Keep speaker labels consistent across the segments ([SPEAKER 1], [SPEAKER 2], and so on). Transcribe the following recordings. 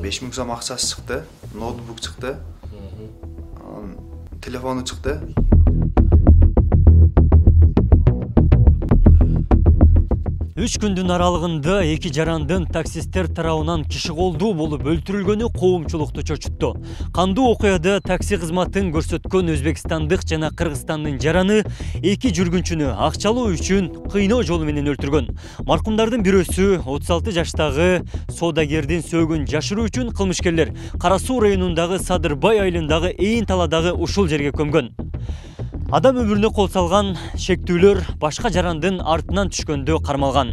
[SPEAKER 1] 5000 сом акчасы чыкты, ноутбук чыкты, телефону чыкты.
[SPEAKER 2] Үч күндүн аралыгында эки жарандын таксисттер тарабынан киши колдуу болуп өлтүрүлгөнү коомчулукту чочутту. Кандуу окуяда такси кызматын көрсөткөн өзбекстандык жана кыргызстандын жараны эки жүргүнчүнү акчалоо үчүн кыйноо жолу менен өлтүргөн. Маркумдардын бирөөсү 36 жаштагы соодагердин сөөгүн жашыруу үчүн кылмышкерлер Кара Суу районундагы Садырбай айылындагы Эйин таладагы ушул жерге көмгөн. Адам өмүрүнө кол салган шектүүлөр башка жарандын артынан түшкөндө кармалган.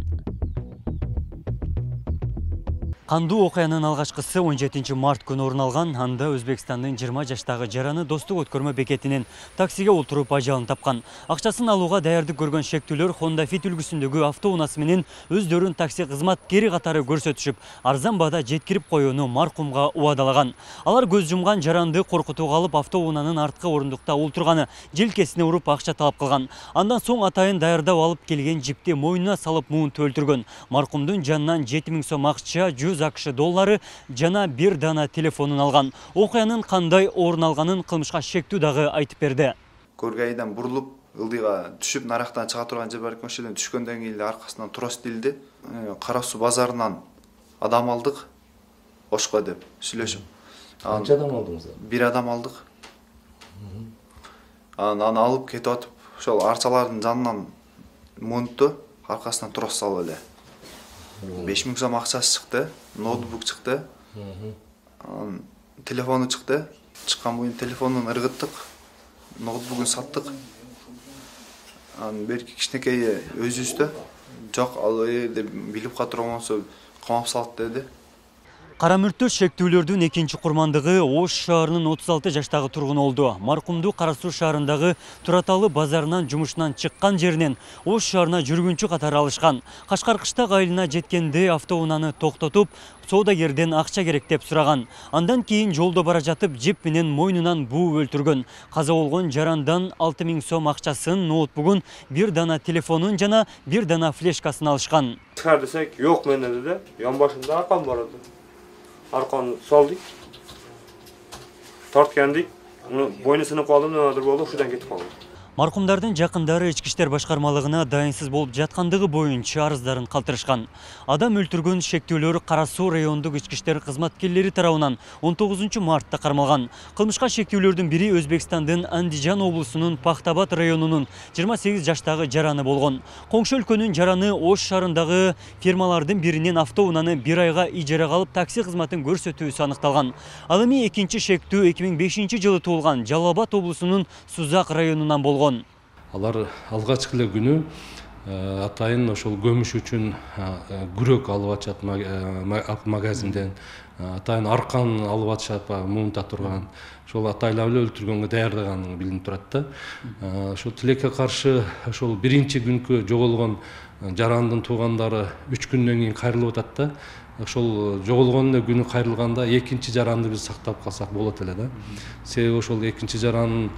[SPEAKER 2] Кандуу окуянын алгачкысы 17 март күнү орун алган. Анда Өзбекстандын 20 жаштагы жараны Достук өткөрмө бекетинен таксиге отуруп ажалын тапкан. Акчасын алууга даярдык көргөн шектүүлөр Honda Fit үлгүсүндөгү автоунаасы менен өздөрүн такси кызматкери катары көрсөтүшүп, арзан баада жеткирип коюуну маркумга убадалаган. Алар көз жумган жаранды коркутууга алып автоунаанын арткы орундукта олтурганы, желкесине уруп акча талап кылган. Андан соң атайын даярдап алып келген жипти мойнуна салып муунтуп өлтүргөн. Маркумдун жанынан 7000 сом акча, АКШ доллары жана бир дана телефонун алган. Окуянын кандай орун алганын кылмышка шектүү дагы айтып берди.
[SPEAKER 1] Көргайдан бурулуп, ылдыйга түшүп, нарактан чыга турган жер бар экен, ошодон түшкөндөн кийин аркасынан трос тилди. Кара Суу базарынан адам алдык, Ошко деп сүйлөшүп.
[SPEAKER 3] Канча адам алдыңыз?
[SPEAKER 1] Бир адам алдык. Аны алып кетип атып, ошол арчалардын жанынан муунтту, аркасынан трос салып эле. 5000 сом акчасы чыкты, ноутбук чыкты, телефону чыкты. Чыккан боюн телефонун ыргыттык, ноутбугун саттык. Берки кичинекей өзүбүздө жок, ал деп билип катырган болсо камап салат деди.
[SPEAKER 2] Кара мүрттө шектүүлөрдүн экинчи курмандыгы Ош шаарынын 36 жаштагы тургуну болду. Маркумду Кара Суу шаарындагы Тураталы базарынан жумушунан чыккан жеринен Ош шаарына жүргүнчү катары алышкан. Кашкар Кыштак айылына жеткенде автоунааны токтотуп, соодагерден акча керек деп сураган. Андан кийин жолдо бара жатып жип менен мойнунан бууп өлтүргөн. Каза болгон жарандан 6000 сом акчасын, ноутбугун, бир дана телефонун жана бир дана флешкасын алышкан.
[SPEAKER 4] Чыгар десек, жок менен деди. Ян башында аркам бар эди. Арканы салдык, тарткандык, бойну сынып калдым, немедир болду, ушудан кетип калдым.
[SPEAKER 2] Маркумдардын жакындары ички иштер башкармалыгына дайынсыз болуп жаткандыгы боюнча арыздарын калтырышкан. Адам өлтүргөн шектүүлөр Кара Суу райондук ички иштер кызматкерлери тарабынан 19 мартта кармалган. Кылмышка шектүүлөрдүн бири Өзбекстандын Андижан облусунун Пахтабад районунун 28 жаштагы жараны болгон. Коңшу өлкөнүн жараны Ош шаарындагы фирмалардын биринен автоунааны бир айга ижарага алып такси кызматын көрсөтүүсү аныкталган. Ал эми экинчи шектүү 2005 жылы туулган Жалал-Абад облусунун Сузак районунан болгон.
[SPEAKER 3] Алар алгачкы эле күнү атайын ошол көмүш үчүн күрөк алып атышат магазинден, атайын аркан алып атышат, муунта турган. Ошол атайлап эле өлтүргөнгө даярдаганы билинип турат да. Ошол тилекке каршы ошол биринчи күнкү жоголгон жарандын туугандары 3 күндөн кийин кайрылып атат да. Ошол жоголгон күнү кайрылганда экинчи жаранды биз сактап калсак болот эле да. Себеби ошол экинчи жаранын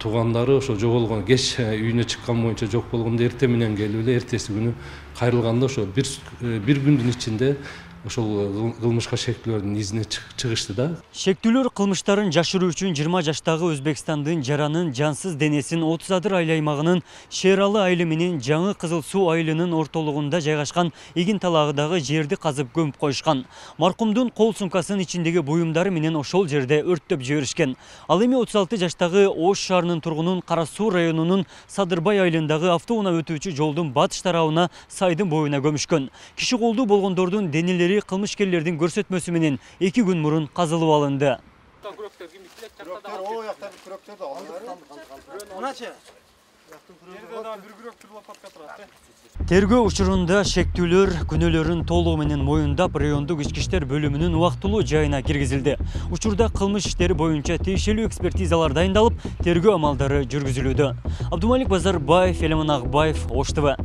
[SPEAKER 3] туугандары ошол жоголгон кеч үйүнө чыккан боюнча жок болгондо эртең менен келип эле эртеси күнү кайрылганда ошол бир күндүн ичинде ошол кылмышка шектүүлөрдүн изине чыгышты да.
[SPEAKER 2] Шектүүлөр кылмыштарын жашыруу үчүн 20 жаштагы Өзбекстандын жаранын жансыз денесин 30 адыр айыл аймагынын Шералы айылы менен Жаңы Кызыл Суу айылынын ортолугунда жайгашкан Игин талагыдагы жерди казып көмүп коюшкан. Маркумдун кол сумкасынын ичиндеги буюмдары менен ошол жерде өрттөп жиберишкен. Ал эми 36 жаштагы Ош шаарынын тургунун Кара Суу районунун Садырбай айылындагы автоунаа өтүүчү жолдун батыш тарабына сайдын боюна көмүшкөн. Киши колдуу болгондордун денелери кылмышкерлердин көрсөтмөсү менен 2 күн мурун казылып алынды. Тергөө учурунда шектүүлөр күнөөлөрүн толугу менен моюндап, райондук ички иштер бөлүмүнүн убактылуу жайына киргизилди. Учурда кылмыш иштери боюнча тиешелүү экспертизалар дайындалып, тергөө амалдары жүргүзүлүүдө. Абдумалик Базарбаев, Элеман Акбаев, Ош ТВ.